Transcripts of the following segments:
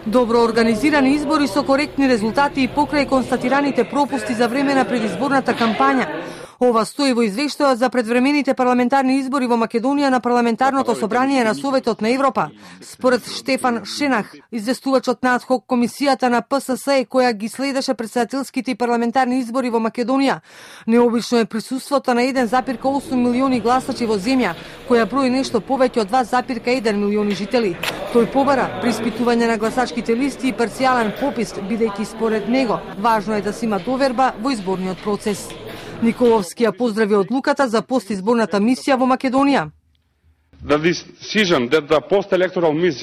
Добро организирани избори со коректни резултати и покрај констатираните пропусти за време на предизборната кампања. Ова стои во извештајот за предвремените парламентарни избори во Македонија на Парламентарното собрание на Советот на Европа. Според Штефан Шенах, известувачот на адхок комисијата на ПСС која ги следеше претседателските и парламентарни избори во Македонија, необично е присуството на 1,8 милиони гласачи во земја, која брои нешто повеќе од 2,1 милиони жители. Тој побара преиспитување на гласачките листи и парцијален попис, бидејќи според него важно е да се има доверба во изборниот процес. Николовски ја поздрави одлуката за постизборната мисија во Македонија.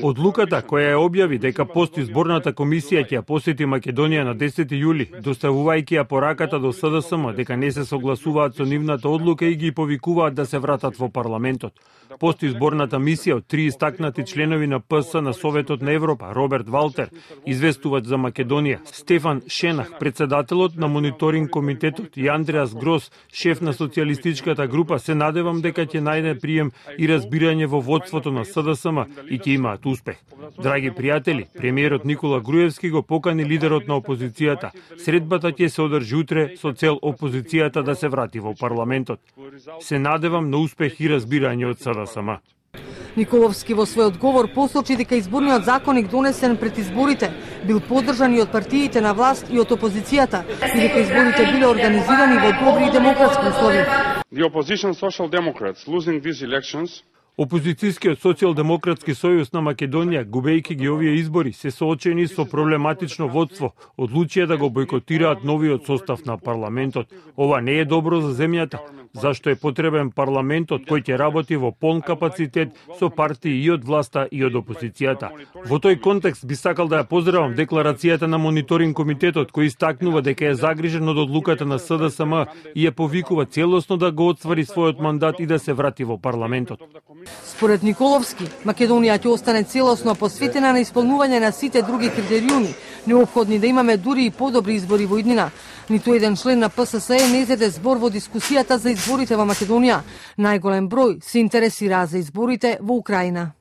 Одлуката која ја објави дека постизборната комисија ќе ја посети Македонија на 10 јули, доставувајќи ја пораката до СДСМ дека не се согласуваат со нивната одлука и ги повикуваат да се вратат во парламентот. Постизборната мисија од 3 истакнати членови на ПС на Советот на Европа, Роберт Валтер, известувач за Македонија, Стефан Шенах, председателот на мониторинг комитетот и Андреас Грос, шеф на социјалистичката група, се надевам дека ќе најде прием и разбирање во водството на СДСМ и ќе имаат успех. Драги пријатели, премиерот Никола Груевски го покани лидерот на опозицијата. Средбата ќе се одржи утре со цел опозицијата да се врати во парламентот. Се надевам на успех и разбирање од СДСМ. Николовски во свој одговор посочи дека изборниот законник донесен пред изборите бил поддржан и од партиите на власт и од опозицијата и дека изборите биле организирани во добри и демократски услови. Опозицијскиот социјалдемократски сојуз на Македонија, губејќи ги овие избори, се соочени со проблематично водство, одлучија да го бойкотираат новиот состав на парламентот. Ова не е добро за земјата, зашто е потребен парламентот кој ќе работи во полн капацитет со партии и од власта и од опозицијата. Во тој контекст би сакал да ја поздравам декларацијата на мониторинг комитетот кој истакнува дека е загрижен од одлуката на СДСМ и ја повикува целосно да го отствари својот мандат и да се врати во парламентот. Според Николовски, Македонија ќе остане целосно посветена на исполнување на сите други критериуми, неопходни да имаме дури и подобри избори во иднина. Ниту еден член на ПСС не зеде збор во дискусијата за изборите во Македонија. Најголем број се интересира за изборите во Украина.